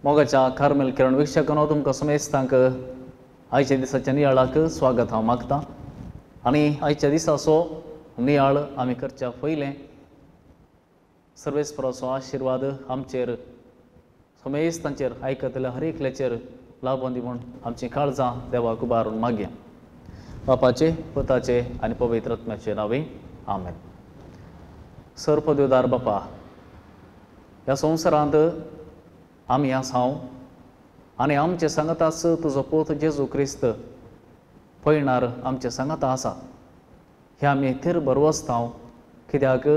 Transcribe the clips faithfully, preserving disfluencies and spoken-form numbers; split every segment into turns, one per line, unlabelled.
मोगाच्या कार्मेल किरण वीक्षकांनो, तुमकां समेस्तांक आयच्या दिसाच्या नियाळाक स्वागत हांव मागता. आनी आयच्या दिसाचो नियाळ आमी करच्या पयलें सर्वेस्पराचो आशिर्वाद आमचेर समेस्तांचेर आयकतल्या हर एकल्याचेर लाभोन दी म्हूण आमचीं काळजां देवाक उबारून मागया. बापाचे, पुताचे आनी पवित्र आत्म्याचे नांवे आमेन. सर्वपदवीदार बापा, ह्या संवसारांत आमी आसाव आनी आमचे सांगाताच तुजो पूत जेजू क्रिस्त पयणार आमचे सांगाता आसा. हे आमी थीर भरवसताव, कित्याक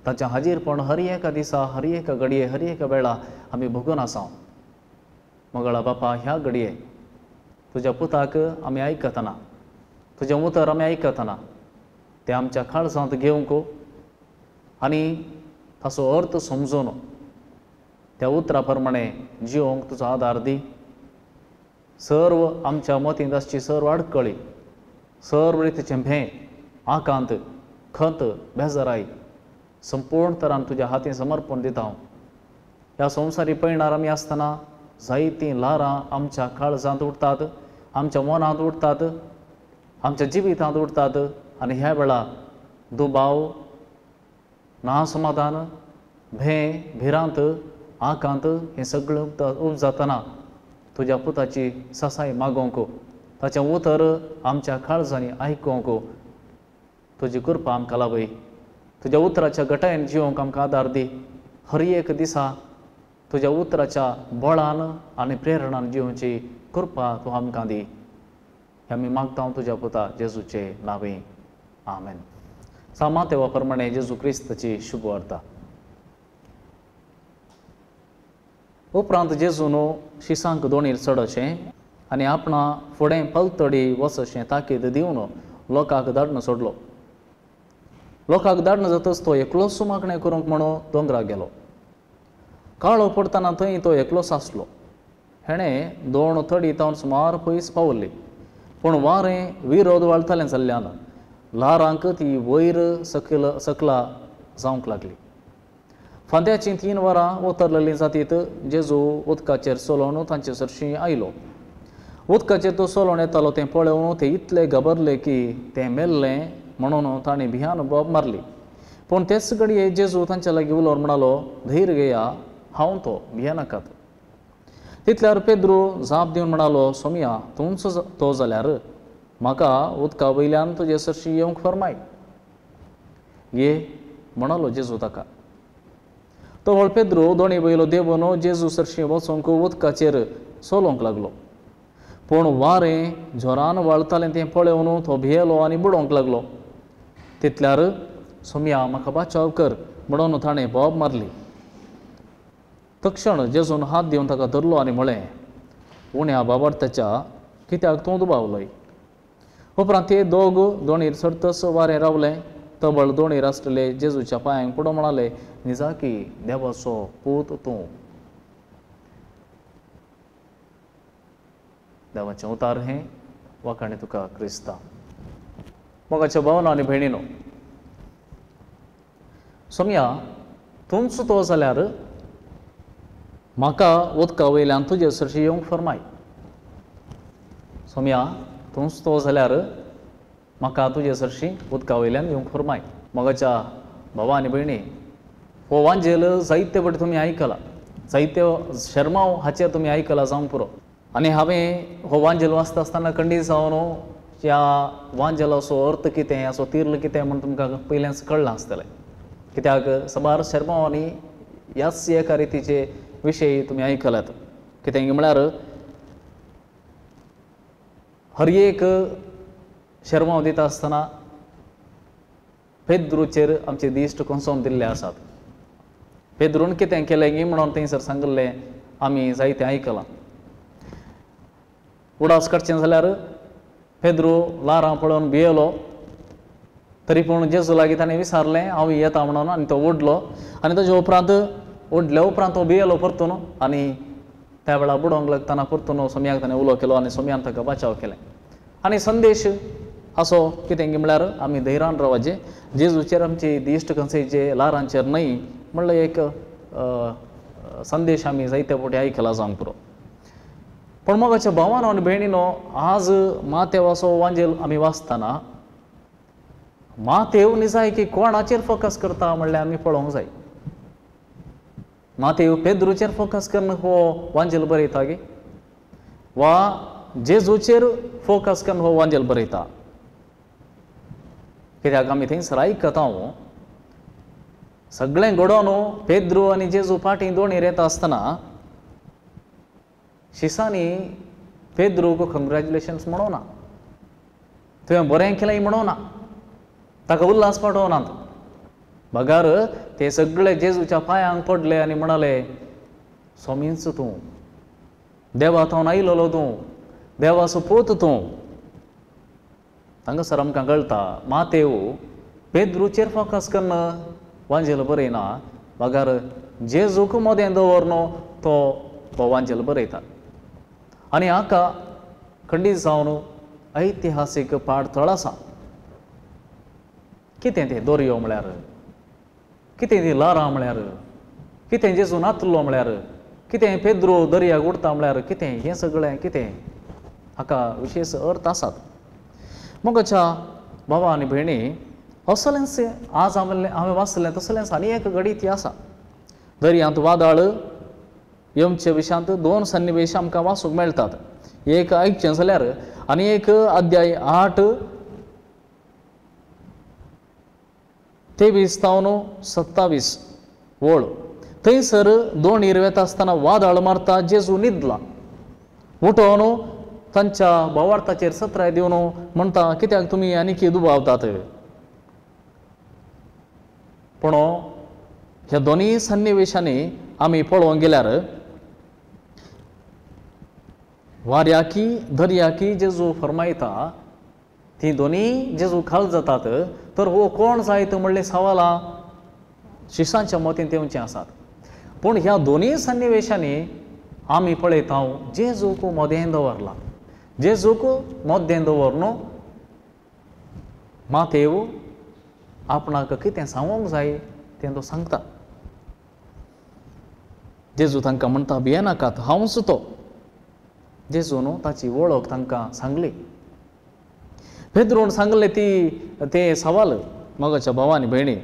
ताचें हाजीरपण हर एका दिसा, हर एका घडये, हर एका वेळा आमी भोगून आसाव. मगळा बापा, ह्या घडये तुज्या पुताक आमी आयकतना, तुजें उतर आमी आयकतना तें आमच्या काळजांत घेवंक आनी ताचो अर्थ समजून त्या उतरा प्रमाणे जिवंक तुजो आदार दी. सर्व आमच्या मतींत आसची सर्व आडकळी, सर्व रितीचें भें, आकांत, खंत, बेजाराय संपूर्ण तरान तुज्या हातीन समर्पण दिता हांव. ह्या संवसारी पयणार आमी आसतना जायतीं ल्हारां आमच्या काळजांत उठतात, आमच्या मनांत उठतात, आमच्या जिवितांत उठतात आनी ह्या वेळा दुबाव, नासमाधान, भें, भिरांत, आकांत हें सगळें उपजातना तुज्या पुताची सासाय मागोवंक, ताचें उतर आमच्या काळजांनी आयकोवंक तुजी कृपा आमकां लाभय. तुज्या उतराच्या गटायेन जिवंक आमकां आदार दी. हर एक दिसा तुज्या उतराच्या बळान आनी प्रेरणान जिवची कृपा तूं आमकां दी. हें आमी मागता तुज्या पुता जेजूचे नांवे आमेन. सामातेवा प्रमाणे जेजू क्रिस्ताची शुभवार्ता. उपरांत जेजून शिसांक दोणीर चडशें आनी आपणा फुडें पलतडी वचशें ताकीद दिवन लोकांक धाडून सोडलो. लोकांक धाडून जातच तो एकलोच मागणें करूंक म्हणून दोंगराक गेलो. काळो पडटना थंय तो एकलोच आसलो. हेणें दोण तडी तावन सुमार पयस पावली, पूण वारें विरोध वाळटालें जाल्ल्यान ल्हारांक ती वयर सकयल सकला जावंक लागली. फांद्याचीं तीन वरां उतरलेलीं जातीत जेजू उदकाचेर चलोवन तांचे सरशीं आयलो. उदकाचेर तो चलोवन येतालो तें पळोवन ते इतले घाबरले की तें मेल्लें म्हणून तांणी भियान बोब मारली. पूण तेच घडये जेजू तांच्या लागीं उलोवन म्हणालो, धैर्य घेया, हांव तो, भियेनाकात. तितल्यार पेद्रू जाप दिवन म्हणालो, सोमया, तूंच तो जाल्यार म्हाका उदका वयल्यान तुजे सरशीं येवंक फर्माय. ये म्हणालो जेजू ताका. तो व्हड पेद्रू दोणी वयलो देंवन जेजू सरशीं वचूंक उदकाचेर चलोवंक लागलो. पूण वारें जोरान वाळटालें तें पळोवन तो भियेलो आनी बुडोवंक लागलो. तितल्यार सोमया, म्हाका बाचाव कर म्हणून ताणें बोब मारली. तक्षण जेजून हात दिवन ताका धरलो आनी म्हळें, उण्या बाबार्थाच्या कित्याक तूं दुबावलोय? उपरांत ते दोग दोणीर चडतच वारें रावलें. तबळ दोणीर आसलेले जेजूच्या पांयांक पडून म्हणाले, निजाकी देवाचो पूत तूं. देवाचें उतार हें वाखाणे तुका क्रिस्ता. मोगाच्या भावना आनी भयणीनो, सोमया, तूंच तो जाल्यार म्हाका उदका वयल्यान तुजे सरशीं येवंक फर्माय. सोमया, तूंच तो जाल्यार म्हाका तुजे सरशीं उदका वयल्यान येवंक फर्माय. मोगाच्या भावा आनी भयणी, हो वांजेल जायते फावटी तुमी आयकला, जायते शर्माव हाचेर तुमी आयकला जावंक पुरो. आनी हांवें हो वांजेल वाचता आसतना खंडीत जावन ह्या वांजेलाचो अर्थ कितें, हाचो तीर्ल कितें म्हूण तुमकां पयल्याच कळ्ळां आसतलें. कित्याक साबार शर्मावांनी ह्याच एका रितीचे विशय तुमी आयकल्यात. कितें म्हळ्यार हर एक शर्माव दिता आसतना पेद्रूचेर आमचे दिश्ट कोसोवन दिल्ले आसात. पेद्रून कितें केलें गी म्हणून थंयसर सांगिल्लें आमी जायतें आयकलां. उडास काडचें जाल्यार पेद्रू ल्हारां पळोवन भियेलो, तरी पूण जेजू लागीं ताणें विचारलें हांव येता म्हणून, आनी तो उडलो. आनी ताजे उपरांत उडल्या उपरांत तो भियेलो परतून आनी त्या वेळार बुडोवंक लागतना परतून सोमयाक ताणें उलो केलो आनी सोमयान ताका बचाव केलें. आनी संदेश असो कितें म्हळ्यार आमी धैर्यान रावचें, जेजूचेर आमची दिश्ट खंयचे ल्हारांचेर न्हय म्हणल्यार एक संदेश आमी जायते फावटी आयकला जावंक पुरो. पूण मोगाच्या भावानो आनी भयणीनो, आज मातेवाचो वांजेल आमी वाचतना मातेव निजाय की कोणाचेर फोकस करता म्हणल्यार आमी पळोवंक जाय. मातेव पेद्रूचेर फोकस करून हो वांजेल बरयता गे वा जेजूचेर फोकस करून हो वांजेल बरयता? कित्याक आमी थंयसर आयकता सगळें घडोवन पेद्रू आनी जेजू फाटीं दोणीर येता आसतना शिसांनी पेद्रूक कंग्रेच्युलेशन्स म्हणोना, तुवें बरें केलें म्हणोना, ताका उल्हास पाठोवनात, बगार ते सगळे जेजूच्या पांयांक पडले आनी म्हणाले, स्वामीच तूं, देवा थावन आयलोलो तूं, देवाचो पूत तूं. हांगासर आमकां कळटा मातेव पेद्रूचेर फोकस करून वांजेल बरयना, बगार जेजूक मदें दवरन तो तो वांजेल बरयता. आनी हाका खंडीत जावन ऐतिहासीक पाडथळ आसा. कितें तें दोरयो म्हळ्यार, कितें ती ल्हारां म्हळ्यार, कितें जेजू नातलो म्हळ्यार, कितें पेद्रो दर्याक उडता म्हळ्यार, कितें हें सगळें कितें हाका विशेश अर्थ आसात. मोगाच्या भावा आनी भयणी, असलेंच आज हांवें हांवें वाचलें तसलेंच आनी एक घडी ती आसा. दर्यांत वादळ येवचे विशयांत दोन सन्निवेश आमकां वाचूंक मेळटात. एक आयकचें जाल्यार आनी एक अध्याय आठ तेवीस तावन सत्तावीस वळ. थंयसर दोणीर वेता आसतना वादळ मारता, जेजू न्हिदला. उठोवन तांच्या भावार्थाचेर सत्राय दिवन म्हणटा, कित्याक तुमी आनीक दुबावतात? पूण ह्या दोनूय सन्निवेशांनी आमी पळोवंक गेल्यार वाऱ्याकी दर्याकी जेजू फरमायता, ती दोनूय जेजू खाल जातात. तर हो कोण जायत म्हणले सवालां शिसांच्या मतींत येवचें आसात. पूण ह्या दोनूय सन्निवेशांनी आमी पळयता जेजूक मदें दवरला. जेजूक मदें दवरन मातेव आपणाक कितें सांगूंक जाय तें तो सांगता. जेजू तांकां म्हणटा, भियेनाकात, हांवच तो. जेजून ताची वळख तांकां सांगली. पेद्रून सांगले ती ते सवाल मोगाच्या भावा आनी भयणी,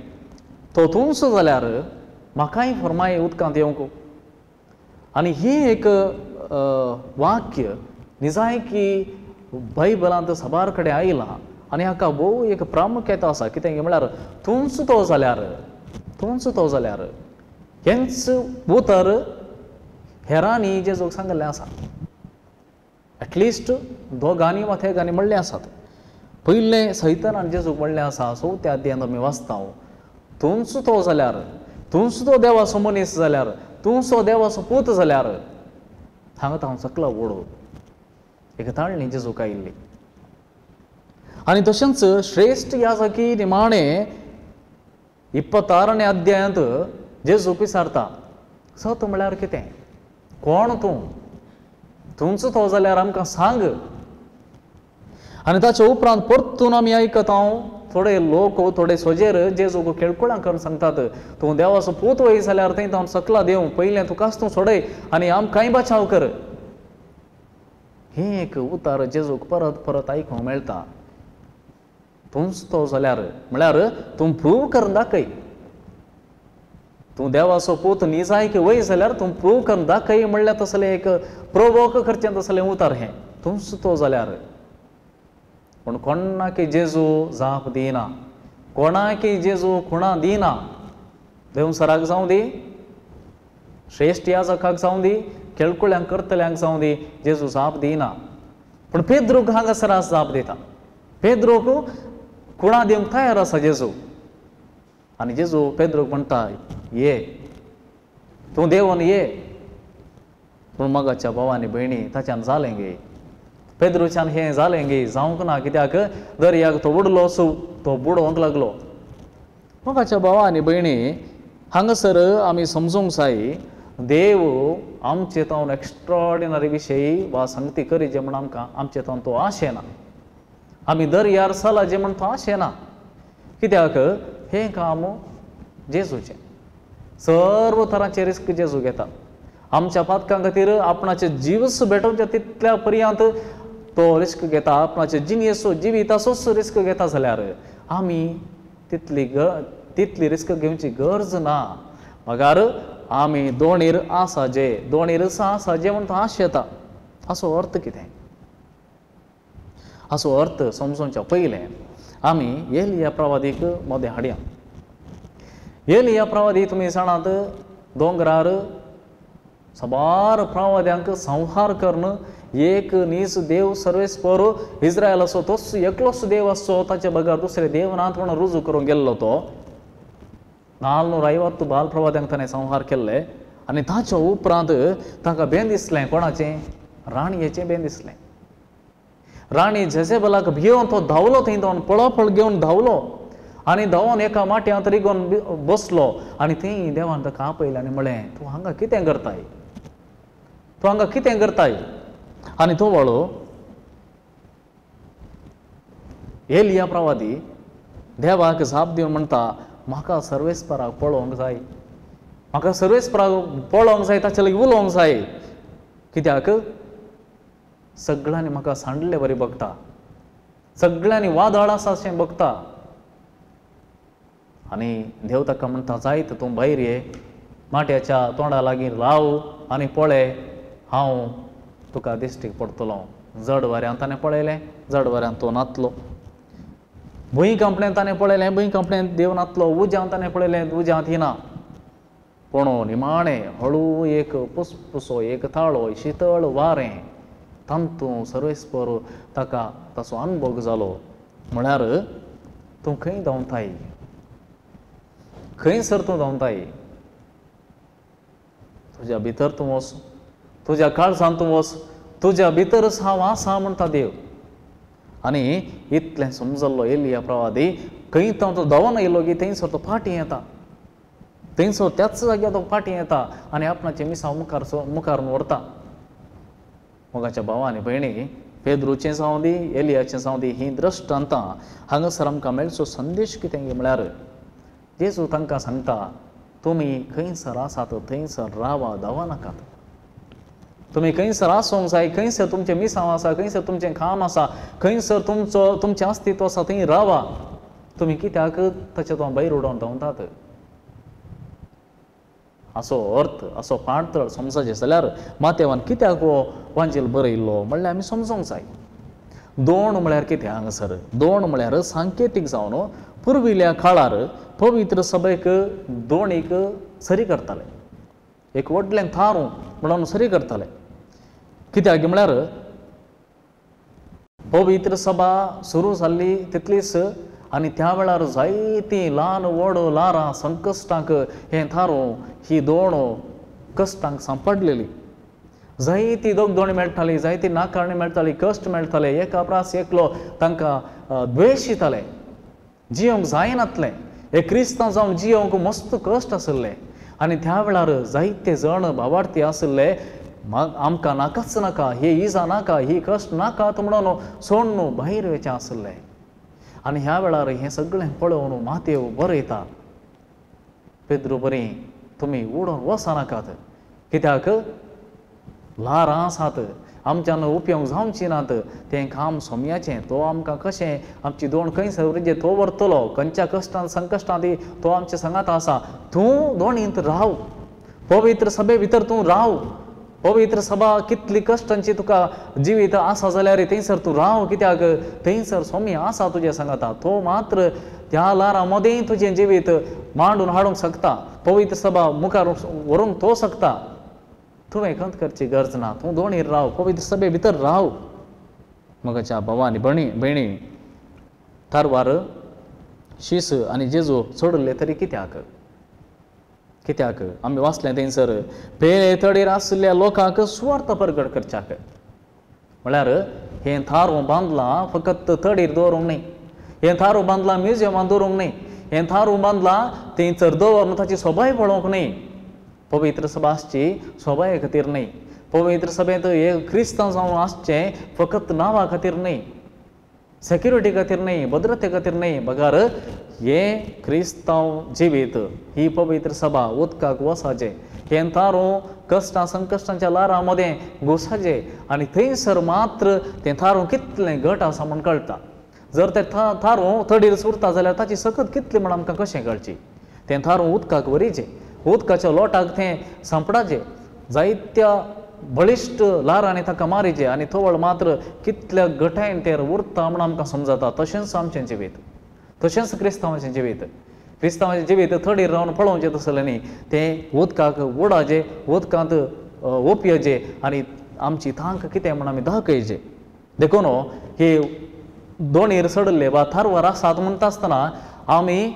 तो तूंच जाल्यार म्हाकाय फरमाय उदकांत येवंक. आनी ही एक वाक्य निजाय की बायबलांत साबार कडेन आयलां आनी हाका भोव एक प्रामुख्यता आसा. कितें म्हळ्यार तूंच तो जाल्यार, तूंच तो जाल्यार हेंच उतर हेरांनी जेजूक सांगिल्लें आसा. एटलिस्ट दोगांनी वा तेगांनी म्हणलें आसात. पयलें सैतानान जेजूक म्हणलें आसा, चवथ्या अध्यायांत आमी वाचता, तूंच तो जाल्यार, तूंच तो देवाचो मनीस जाल्यार, तूंच तो देवाचो पूत जाल्यार हांगा हांव सकला ओडो. एक ताळणी जेजूक आयिल्ली. आनी तशेंच श्रेश्ठ याजकी निमाणे इप्पतारणे अध्यायांत जेजूक विचारता, सत म्हळ्यार कितें, कोण तूं, तूंच तो जाल्यार आमकां सांग. आनी ताचे उपरांत परतून आमी आयकता थोडे लोक थोडे सोजेर जेजूक खेळकुळां करून सांगतात, तूं देवाचो पूत वय जाल्यार थंय हांव सकला देव, पयलें तुकाच तूं सोडय आनी आमकांय बचाव कर. हें एक उतार जेजूक परत परत आयकूंक मेळटा. तूंच तो जाल्यार म्हळ्यार तूं प्रूव करून दाखय, तूं देवाचो पूत निजाय की वय जाल्यार तूं प्रूव करून दाखय म्हणल्यार तसलें एक प्रोवोक करचें तसलें उतार हें, तूंच तो जाल्यार. पूण कोणाकी जेजू जाप दिना, कोणाकी जेजू खुणा दिना. देवसराक जावं दी, श्रेश्ठ याजकाक जावं दी, खेळकुळ्यांक करतल्यांक जावं दी, जेजू जाप दिना. पूण पेद्रूक हांगासर जाप दिता. पेद्रूक खुणा दिवंक तयार आसा जेजू. आनी जेजू पेद्रूक म्हणटा, ये तूं देवन ये. पूण मोगाच्या भावा आनी भयणी, ताच्यान जालें गे, पेद्रूच्यान हें जालें गे जावंक ना. कित्याक दर्याक तो बुडलो सो तो बुडोवंक लागलो. मोगाच्या भावा आनी भयणी, हांगासर आमी समजूंक जाय देव आमचे तावन एक्स्ट्रॉर्डिनरी विशयी वा संगती करी जे म्हण आमकां आमचे तावन तो आशेना. आमी दर्यार चला जे म्हण तो आशेना. कित्याक हें काम जेजूचें. सर्व तरांचे रिस्क जेजू घेता. आमच्या पातकां खातीर आपणाचे जीवस भेटोवच्या तितल्या पर्यंत तो रिस्क घेता, आपणाचे जिणेचो जिविताचोच रिस्क घेता जाल्यार आमी तितली ग तितली रिस्क घेवची गरज ना. मगर आमी दोणीर आसा जे दोणीर आसा जे म्हण तो आशेता. हाचो अर्थ कितें? हाचो अर्थ समजोवच्या पयलें आमी एलिया प्रवादीक मदें हाडया. एलिया प्रवादी तुमी जाणात दोंगरार साबार प्रवाद्यांक संहार करून एक नीज देव सर्वेस्पर इस्रायलाचो तोच एकलोच देव आसचो, ताचे बगर दुसरे देव नात म्हणून रुजू करूंक गेल्लो तो. नाल्नूर ऐवत्तु बाल प्रवाद्यांक ताणें संहार केल्ले आनी ताच्या उपरांत ताका बें दिसलें. कोणाचें? राणयेचें बें दिसलें. राणी जेजेबलाक भियोवन तो धांवलो, थंय धांवन पळोपळ घेवन धांवलो आनी धांवन एका माट्यांत रिगोवन बसलो आनी थंय देवान ताका आपयलें आनी म्हळें, तूं हांगा कितें करताय? तूं हांगा कितें करताय? आनी तो वळो एलिया प्रवादी देवाक जाप दिवन म्हणटा, म्हाका सर्वेस्पराक पळोवंक जाय, म्हाका सर्वेस्पराक पळोवंक जाय, ताचे लागीं उलोवंक जाय. कित्याक? सगळ्यांनी म्हाका सांडले बरी बघता, सगळ्यांनी वादळ आसा अशें बघता. आनी देव ताका म्हणटा, जायत तूं भायर ये, माट्याच्या तोंडा लागीं राव आनी पळय, हांव तुका दिश्टीक पडटलो. जड वाऱ्यान ताणें पळयलें, जड वाऱ्यान तो नातलो. भूंय कंपणेंत ताणें पळयलें, भूंय कंपणेंत देव नातलो. उज्यांत ताणें पळयलें, उज्यांत येना. पूण निमाणें हळू एक पुसपुसो, एक ताळो, शितळ वारें, तातूंत सर्वेस्पर ताका ताचो अनुभव जालो. म्हळ्यार तूं खंय धांवताय? खंयसर तूं धांवताय? तुज्या भितर तूं वच, तुज्या काळजांत तूं वच, तुज्या भितरच हांव आसा म्हणटा देव. आनी इतलें समजल्लो एलिया प्रवादी खंय तो धांवन आयलो की थंयसर तो फाटीं येता, थंयसर त्याच जाग्यार तो फाटीं येता आनी आपणाचें मिसांव मुखार मुखार व्हरता. मोगाच्या भावा आनी भयणी, पेद्रूचें जावं दी, एलियाचें जावं दी, हीं दृश्टांतां हांगासर आमकां मेळचो संदेश कितें म्हळ्यार जेजू तांकां सांगता, तुमी खंयसर आसात थंयसर रावा, धांवा नाकात. तुमी खंयसर आसूंक जाय, खंयसर तुमचें मिसांव आसा, खंयसर तुमचें काम आसा, खंयसर तुमचो तुमचें अस्तित्व आसा थंय रावा. तुमी कित्याक ताच्या तो भायर उडोवन धांवतात? असो अर्थ, असो पाणतळ समजायचें जाल्यार मातेवान कित्याक हो वांजेल बरयल्लो म्हणल्यार आमी समजूंक जाय. दोण म्हळ्यार कितें हांगासर? दोण म्हळ्यार सांकेतीक जावन पुर्विल्ल्या काळार पवित्र सभेक दोणीक सरी करताले, एक व्हडलें थारूं म्हणून सरी करताले. कित्याक म्हळ्यार पवित्र सभा सुरू जाल्ली तितलीच आनी त्या वेळार जायतीं ल्हान व्हड ल्हारां संकश्टांक हें थारूं ही दोण कश्टांक सांपडलेली. जायती दोगदोणी मेळटाली, जायती नाकारणी मेळटाली, कश्ट मेळटाले. एका प्रास एकलो तांकां द्वेश दिताले, जियोंक जायनातलें. एक क्रिस्तांव जावन जियोंक मस्त कश्ट आशिल्ले. आनी त्या वेळार जायते जण भावार्थी आशिल्ले, आमकां नाकाच नाका, ही इजा नाका, ही कश्ट नाका म्हणून सोडून भायर वयचें आशिल्लें. आनी ह्या वेळार हें सगळें पळोवन मातेव बरयता, पेद्रू बरी तुमी उडोवन वचनाकात, कित्याक ल्हारां आसात, आमच्यान उपयोग जावची नात, तें काम सोम्याचें, तो आमकां कशें आमची दोण खंय सवरिजे तो व्हरतलो, खंयच्या कश्टान संकश्टांत तो आमच्या सांगात आसा. तूं दोणींत राव, पवित्र सभे भितर तूं राव. पवित्र सभा कितली कश्टांची तुका जिवीत आसा जाल्यार थंयसर तूं राव, कित्याक थंयसर सोमी आसा तुज्या सांगाता. तो मात्र त्या ल्हारां मदें तुजें जिवीत मांडून हाडूंक शकता, पवित्र सभा मुखार व्हरूंक तो शकता. तुवें खंत करची गरज ना, तूं दोणीर राव, पवित्र सभे भितर राव. मगाच्या भावा आनी भयणी भयणी तारवार शीस आनी जेजू सोडले तरी कित्याक? कित्याक आमी वाचलें थंयसर पेले तडीर आशिल्ल्या लोकांक सुवार्थ परगट करच्याक. म्हळ्यार हें थारो बांदलां फकत तडीर दवरूंक न्हय, हें थारो बांदलां म्युजियमान दवरूंक न्हय, हें थारो बांदलां थंयसर दवरून ताची सोबाय पळोवंक न्हय. पवित्र सभा आसची सोबाये खातीर न्हय, पवित्र सभेंत एक क्रिस्तांव जावन आसचें फकत नांवा खातीर न्हय, सेक्युरिटी खातीर न्हय, भद्रते खातीर न्हय, बगर हें क्रिस्तांव जिवीत ही पवित्र सभा उदकाक वसाचें, हें थारूं कश्टां संकश्टांच्या ल्हारां मदें घुसाचें आनी थंयसर मात्र तें थारूं कितलें घट आसा म्हूण कळटा. जर तें थारूं तडीर उरता जाल्यार ताची सकत कितली म्हूण आमकां कशें कळची. तें थारूं उदकाक वरीचें, उदकाच्या लोटाक तें सांपडाचें, जायत्या बळिश्ट ल्हारांनी ताका मारीचें आनी थवळ मात्र कितल्या घटायेन तें उरता म्हूण आमकां समजता. तशेंच आमचें जिवीत, तशेंच क्रिस्तांवाचें जिवीत. क्रिस्तांवाचें जिवीत थडीर रावन पळोवचें तसलें न्ही, तें उदकाक उडाचें, उदकांत ओपयचें आनी आमची तांक कितें म्हूण आमी दाखयचें. देखून हे दोणीर चडिल्ले वा थारवार आसात म्हणटा आसतना आमी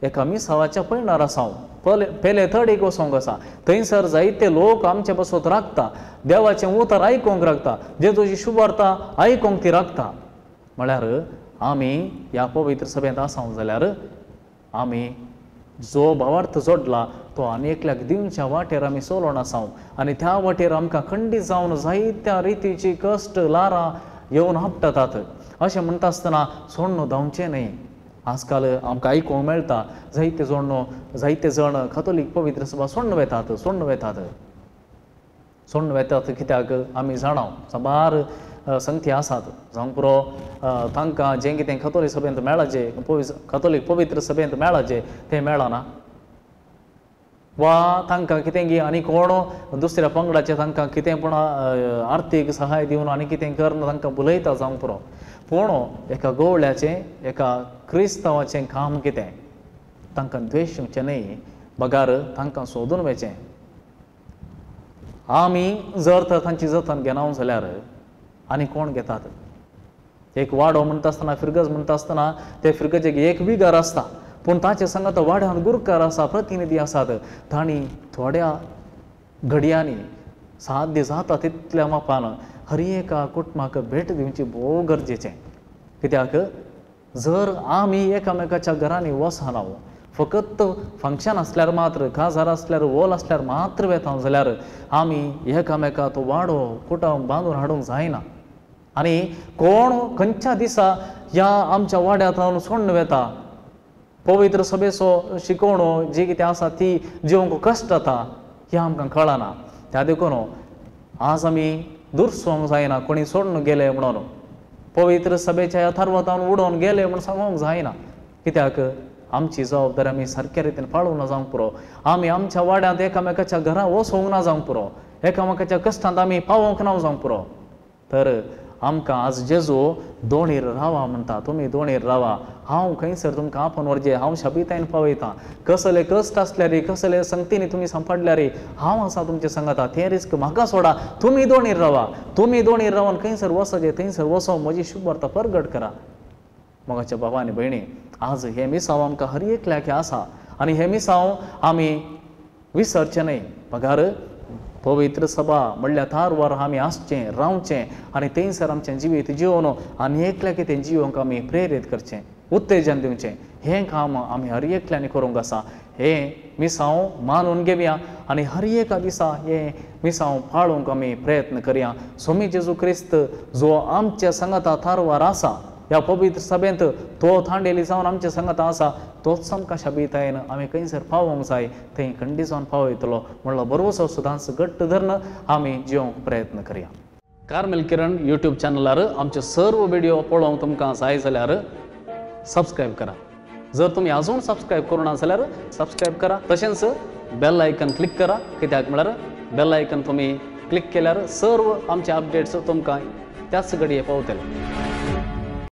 एका मिसावाच्या पयणार आसा, पले पेले थडीक वचोंक आसा. थंयसर जायते लोक आमचे पासत राखता, देवाचें उतर आयकूंक राखता, जेजूची शुभवार्ता आयकूंक ती राखता. म्हळ्यार आमी ह्या पवित्र सभेंत आसा जाल्यार आमी जो भावार्थ जोडला तो आनी एकल्याक दिवच्या वाटेर आमी चलोवन आसा आनी त्या वाटेर आमकां खंडीत जावन जायत्या रितीची कश्ट ल्हारां येवन आपटतात. अशें म्हणटा आसतना सोडणो धांवचें न्हय. आजकाल आमकां आयकूंक मेळटा जायते जोडणो जायते जण कथोलीक पवित्र सभा सोडून वेतात सोडून वेतात सोडून वेतात. कित्याक आमी जाणा साबार संगती आसात जावंक पुरो तांकां जें कितें कथोलीक सभेंत मेळाचें, कथोलीक पवित्र सभेंत मेळाचें तें मेळना, वा तांकां कितें गी आनी कोण दुसऱ्या पंगडाचें तांकां कितें पूण आर्थीक सहाय दिवन आनी कितें करून तांकां भुलयता जावंक पुरो. पूण एका गवळ्याचें, एका क्रिस्तांवाचें काम कितें, तांकां द्वेश येवचें न्हय, बगार तांकां सोदून वचें. आमी जर तर तांची जतन घेना जाल्यार आनी कोण घेतात. एक वाडो म्हणटा आसतना, फिरगज म्हणटा आसतना ते फिरगजेक एक विगार आसता, पूण ताचे सांगात वाड्यांत गुरकार आसा, प्रतिनिधी आसात. तांणी थोड्या घडयांनी साध्य जाता तितल्या मापान हर एका कुटुंबाक भेट दिवची भोव गरजेचें. कित्याक जर आमी एकामेकाच्या घरांनी वचना, फकत फंक्शन आसल्यार मात्र, काजार आसल्यार, वोल आसल्यार मात्र वेता जाल्यार आमी एकामेका तो वाडो कुटुंब बांदून हाडूंक जायना. आनी कोण खंयच्या दिसा ह्या आमच्या वाड्यांत रावन सोडून वेता, पवित्र सभेचो शिकवणो जी कितें आसा ती जिवंक कश्ट जाता हें आमकां कळना. त्या देखून आज आमी दुरसोंक जायना कोणी सोडून गेले म्हणून, पवित्र सभेच्या ह्या थारवातान उडोवन गेले म्हूण सांगूंक जायना. कित्याक आमची जबाबदारी आमी सारक्या रितीन पाळूंक ना जावंक पुरो. आमी आमच्या वाड्यांत एकामेकाच्या घरा वचोंक ना जावंक पुरो, एकामेकाच्या कश्टांत आमी पावोंक ना जावंक पुरो. तर आमकां आज जेजू दोणीर रावा म्हणटा, तुमी दोणीर रावा, हांव खंयसर तुमकां आपोवन व्हरचें, हांव शाबितायन पावयतां. कसले कश्ट आसल्यार, कसले संगतीनी तुमी सांपडल्यार हांव आसा तुमचे सांगाता, तें रिस्क म्हाका सोडा, तुमी दोणीर रावा. तुमी दोणीर रावन खंयसर वचचें थंयसर वचो, म्हजी शुभवार्ता परगट करा. मोगाच्या बाबा आनी भयणी, आज हें मिसांव आमकां हर एकल्याक आसा आनी हें मिसांव आमी विसरचें न्हय. बगार पवित्र सभा म्हणल्यार थारवार आमी आसचें, रावचें आनी थंयसर आमचें जिवीत जिवन आनी एकल्याक तें जिवंक आमी प्रेरीत करचें, उत्तेजन दिवचें. हें काम आमी हर एकल्यांनी करूंक आसा. हें मिसांव मानून घेवया आनी हर एका दिसा हें मिसांव पाळूंक आमी प्रयत्न करया. स्वामी जेजू क्रिस्त जो आमच्या सांगाता थारवार आसा, ह्या पवित्र सभेंत तो थांडेली जावन आमच्या सांगाता आसा, तोच आमकां शाबितायेन आमी खंयसर पावोंक जाय थंय खंडीत जावन पावयतलो म्हणलो बरोसो सदांच घट्ट धरून आमी जिवंक प्रयत्न करया. कार्मेल किरण यूट्यूब चॅनलार आमचे सर्व व्हिडिओ पळोवंक तुमकां जाय जाल्यार सबस्क्रायब करा. जर तुमी अजून सबस्क्रायब करूं ना जाल्यार सबस्क्रायब करा, तशेंच बेल आयकन क्लिक करा. कित्याक म्हळ्यार बेल आयकन तुमी क्लिक केल्यार सर्व आमचे अपडेट्स तुमकां त्याच घडये पावतले.